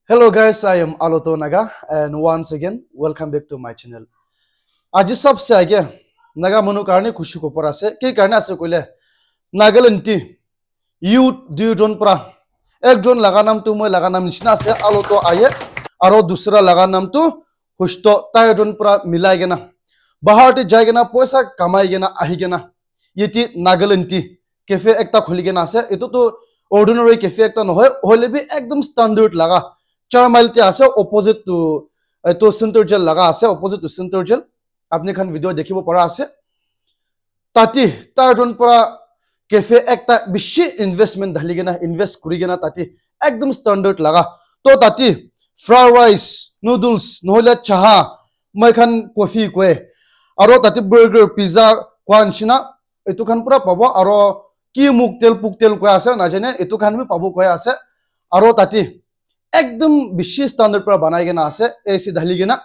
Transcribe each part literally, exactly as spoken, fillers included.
Hello guys, I am Aloto Naga and once again welcome back to my channel. Aji sabse age Naga manu karne khushi khobor ase. Ki karne ase koile Nagaland ti youth duijon pra, ekjon laga nam tu moi laga nam nishina ase, Aloto Aye, aro dusra laga nam tu Husto, tai jon pra milai kena, bahar te jai kena, poisa kamai kena, ahi kena, yeti Nagaland ti cafe ekta khuli kena ase. Etu tu ordinary cafe ekta nohoi, hoile bi ekdom standard laga, char mile te ase, opposite to, etu Center Jail laga ase, opposite to Center Jail. Apni khan video dekhibo para ase. Tati, tai jon pra cafe ekta bishi investment dhali kena, invest kuri kena tati ekdom standard laga. To tati fried rice, noodles, nohole chaha, moi khan coffee koi. Aro tati burger, pizza koi nishina, etu khan pura pabo. Aro ki muktel puktel koi ase, najane, etu khan bi pabo koi ase. Aro tati ekdom bishi standard pra banai kena ase, A C dhali kena.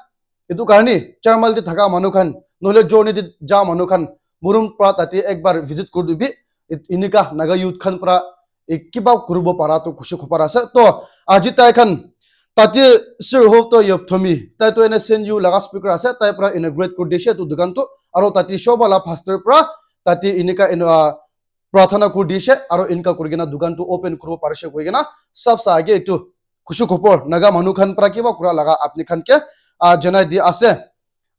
Etu karne, char mile te thaka manu khan, nohole journey te ja manu khan, morom pra tate ekbar visit kuri dibi, et-, enika Naga youth khan pra, e, kiba kuribo para tu khushi khobor ase. To, aji tai khan, tate Sir Hofto Yopthomi, tai tu N S N U laga speaker ase, tai pra inaugurate kuri dishe etu dukan tu, aro tate Shobha la pastor pra, tate enika, eno, ah, prarthana kuri dishe, aro enika kuri kena dukan tu open kuribo parishe koi kena, sab sa age etu khushi khobor, Naga manu khan pra kiba kura laga apni khan ke, ah, janai di ase.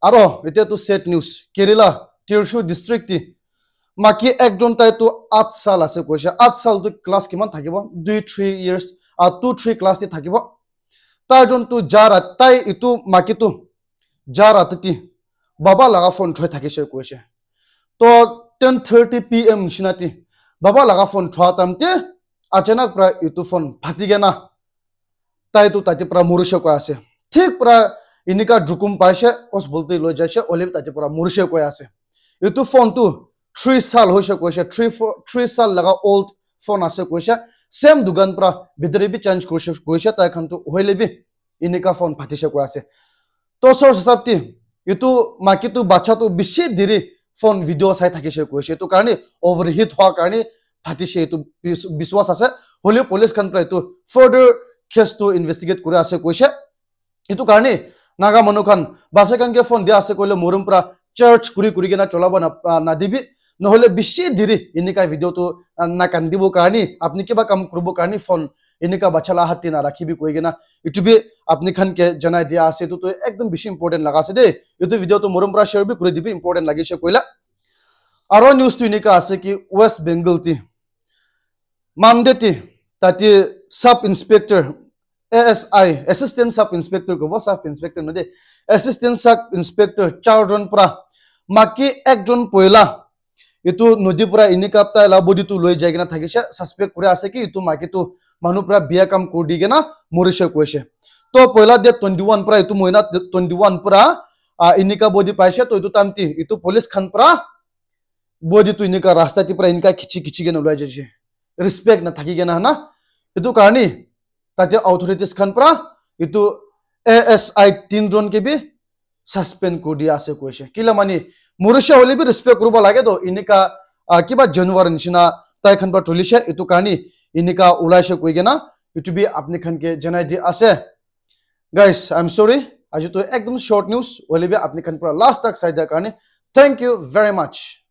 Aro, etia tu sad news. Kerala, Thrissur district ti, maki ekjon tai tu aat sal ase koise. Aat sal tu class kiman thakibo? Dui, three years, ah, two, three class ti thakibo. Tai jon tu ja rat, tai etu maki tu ja rat ti baba laga phone thoi thakise koise. To ten thirty P M nishina ti, baba laga phone thoa time te, achanak pra etu phone phati kena, tai tu tate pra morishe koi ase. Thik pra enika jukum paishe, os bolte loi jaishe, ole tate pra morishe koi ase. Etu phone tu three sal hoishe koishe, three, four, three sal laga old phone ase koishe. Same dukan pra bidire bi change kurishe koishe, tai khan tu hoile bi enika phone phatishe koi ase. To source hisab te, etu maki tu bacha tu bishi diri phone video sai thakishe koishe. Etu karne overheat hoa karne phatishe etu bis-, biswas ase. Hoile police khan pra etu further case tu investigate kuri ase koishe. Etu karne Naga manu khan basa khan ke phone dia ase koile morom pra charge kuri kuri kena cholabo na, ah, nadibi. Nohole bishi diri enika video tu, ah, nakandibo karne, apni kiba kam kuribo karne phone enika bacha la hat te narakhibi koi kena, etu bi apni khan ke janai dia ase. Etu tu ekdom bishi important laga ase de. Etu video tu morom pra share bi kuri dibi, important lagise koile. Aro news tu enika ase ki West Bengal ti Monday ti tate sub inspector, A S I, assistant sub inspector kobo, sub inspector no de, assistant sub inspector char jon pra maki ekjon poila etu nodi pra enika tai la body tu loi jai kena thakishe, suspect kuri ase ki etu maki tu manu pra biya kam kuri di kena morishe koishe. To poila date twenty one pra, etu mohina twenty one pra, ah, enika body paishe. To etu time te etu police khan pra body tu enika rasta te pra enika khichi khichi kena ulai jaishe, respect na thaki kena na. Etu karne tate authorities khan pra etu A S I tin jon ke bi suspend kuri dia ase koishe. Kila mani, morishe hoile bi respect kuribo lage to, enika, ah, kiba januar nishina tai khan pra tulishe, etu karne enika ulaishe koi kena, etu bi apni khan ke janai di ase. Guys, I'm sorry, aji to ekdom short news, hoile bi apni khan pra last tak sai dia karne thank you very much.